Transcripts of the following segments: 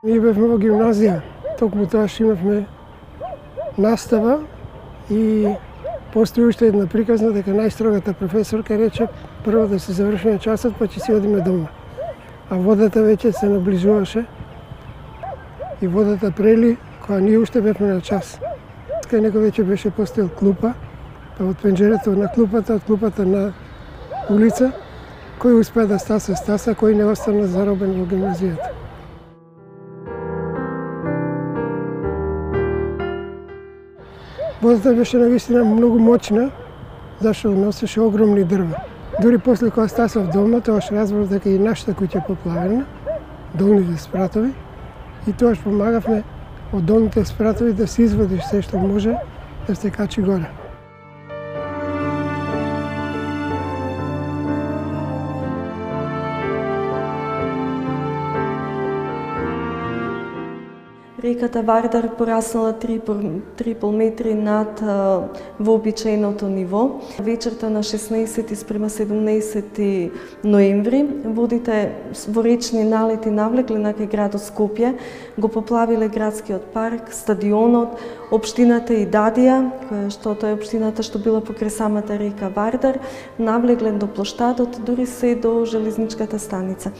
Ние бевме во гимназија, токму тоаш имавме настава и постои уште една приказна дека најстрогата професорка рече прво да се завршиме часот па ќе си одиме дома. А водата веќе се наближуваше и водата прели кога ние уште бевме на час. Кај него веќе беше постоел клупа, па од пенџерето на клупата, од клупата на улица, кој успеа да стаса, кој не остана заробен во гимназијата. Водата беше навистина многу моćна, зашто носеше огромни дрва. Дури после кога стасав дома, тоаш разбрав дека и нашата куќа поплавена, долните спратови, и тоаш помагавме од долните спратови да се извадиш се што може да се качи горе. Реката Вардар пораснала 3,5 метри над вообичаеното ниво. Вечерта на 16 спрема 17 ноември водите во речни налети навлекле на кај градот Скопје, го поплавиле градскиот парк, стадионот, општината Идадија, која што тоа е општината што била покрај самата река Вардар, навлегле до плоштадот, дури се до железничката станица.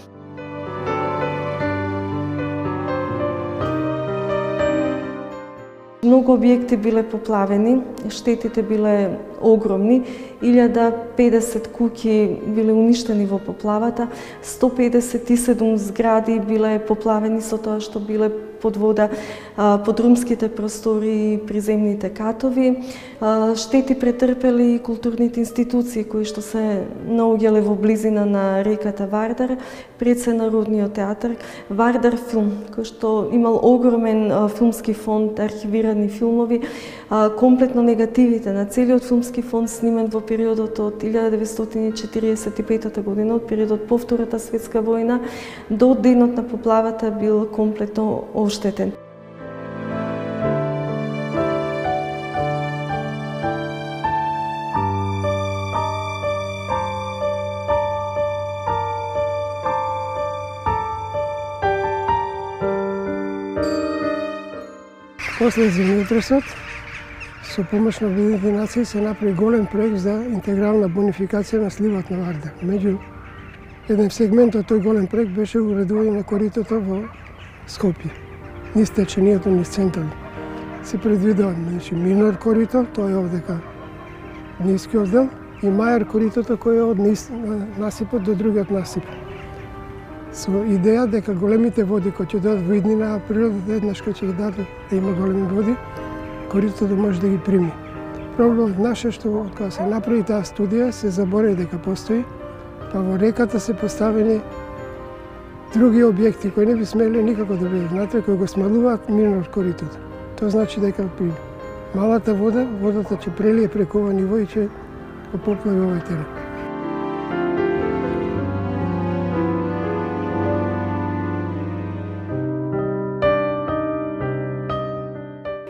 Многу објекти биле поплавени, штетите биле огромни, 1050 куќи биле уништени во поплавата, 157 згради биле поплавени со тоа што биле под вода, подрумските простори и приземните катови. Штети претрпели и културните институции кои што се наоѓале во близина на реката Вардар, пред се Народниот театар, Вардар филм, кој што имал огромен филмски фонд, архивирани филмови, комплетно негативите на целиот филмски фонд снимен во периодот од 1945 година, од периодот по Втората светска војна до денот на поплавата бил комплетно оштетен. После земјотресот, со помош на Обединетите нации се направи голем проект за интегрална бонификација на сливот на Вардар. Меѓу еден сегмент од тој голем проект беше уредување на коритото во Скопје, низ течението, низ центрови. Се предвидува минор корито, тој е овдека нискиот дел, и мајор коритото кој е од насипот до другиот насип. Со идеја дека големите води кои ќе дојдат во иднина, а природата еднаш кој ќе ги даде да има големи води, коритото може да ги прими. Проблемот наш е што кога се направи таа студија, се заборави дека постои, па во реката се поставени други објекти кои не би смеле никако да бидат внатре, кои го смалуваат минор коритото. Тоа значи дека при малата вода, водата ќе прелие преку ова ниво и ќе го поплави овој терен.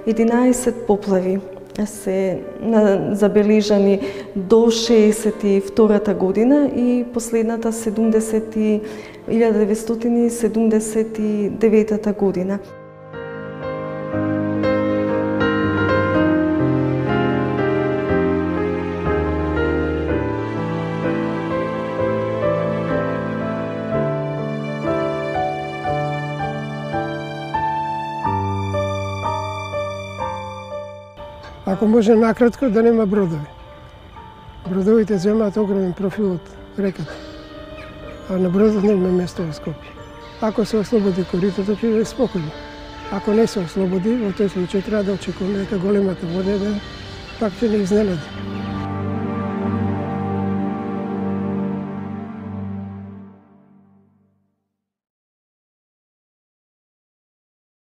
Единаесет поплави се забележани до 62-та година и последната 1979 година. Ако може накратко да нема бродови. Бродовите земаат огромен профил од реката, а на бродот нема место во Скопје. Ако се ослободи коритото, ќе биде спокојно. Ако не се ослободи, во тој случај треба да очекуваме дека големата вода пак ќе не изненади.